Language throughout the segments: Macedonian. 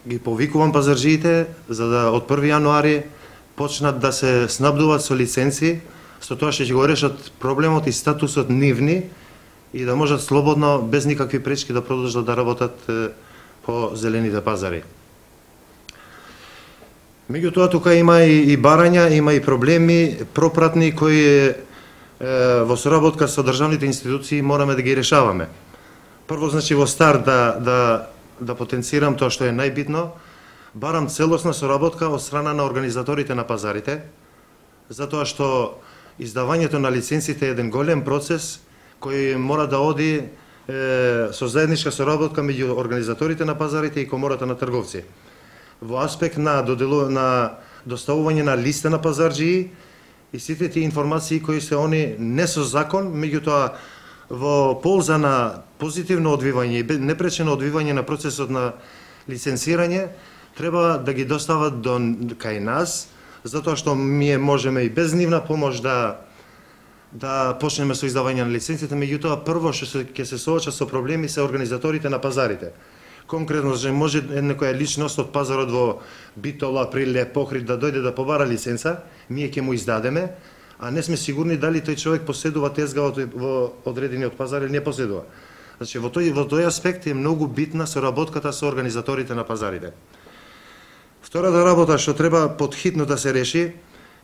ги повикувам пазарджиите за да од 1 јануари почнат да се снабдуваат со лиценци, со тоа што ќе го решат проблемот и статусот нивни и да можат слободно, без никакви пречки да продолжат да работат по зелените пазари. Меѓутоа, тука има и барања, има и проблеми пропратни кои во соработка со државните институции мораме да ги решаваме. Прво, значи, во старт да потенцирам тоа што е најбитно, барам целосна соработка од страна на организаторите на пазарите, затоа што издавањето на лиценците е еден голем процес кој мора да оди со заедничка соработка меѓу организаторите на пазарите и комората на трговци. Во аспект на доставување на листа на пазарджии и сите тие информации кои се они не со закон, меѓутоа во полза на позитивно одвивање и непречено одвивање на процесот на лиценцирање, треба да ги достават кај нас, затоа што ние можеме и без нивна помош да почнеме со издавање на лиценците, меѓутоа прво што ќе се соочат со проблеми се организаторите на пазарите. Конкретно, може некоја личност од пазарот во Битола, Априле, Похрид да дојде да побара лиценца, ние ќе му издадеме, а не сме сигурни дали тој човек поседува тезга во одредениот пазар или не поседува. Значи, во тој аспект е многу битна соработката со организаторите на пазарите. Втората работа што треба подхитно да се реши,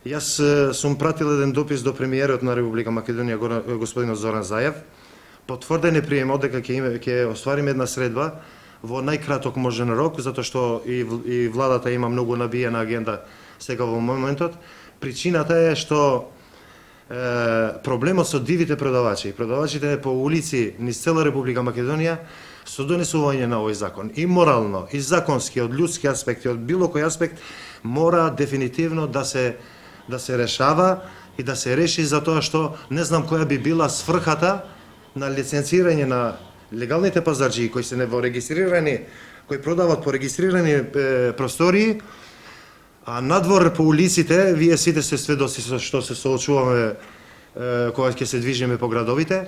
јас сум пратил еден допис до премиерот на Република Македонија, господинот Зоран Заев, потврден е приемот дека ќе оствариме една средба во најкраток можен рок, затоа што и владата има многу набиена агенда сега во моментот. Причината е што проблемот со дивите продавачи, продавачите по улици низ цела Република Македонија, со донесување на овој закон, и морално, и законски, од ljudски аспекти, од било кој аспект, мора дефинитивно да се решава и да се реши, затоа што не знам која би била сфрхата на лиценцирање на легалните пазарджии кои се регистрирани, кои продават по регистрирани простории, а надвор по улиците, вие сите се сведоци со што се соочуваме кога ќе се движиме по градовите,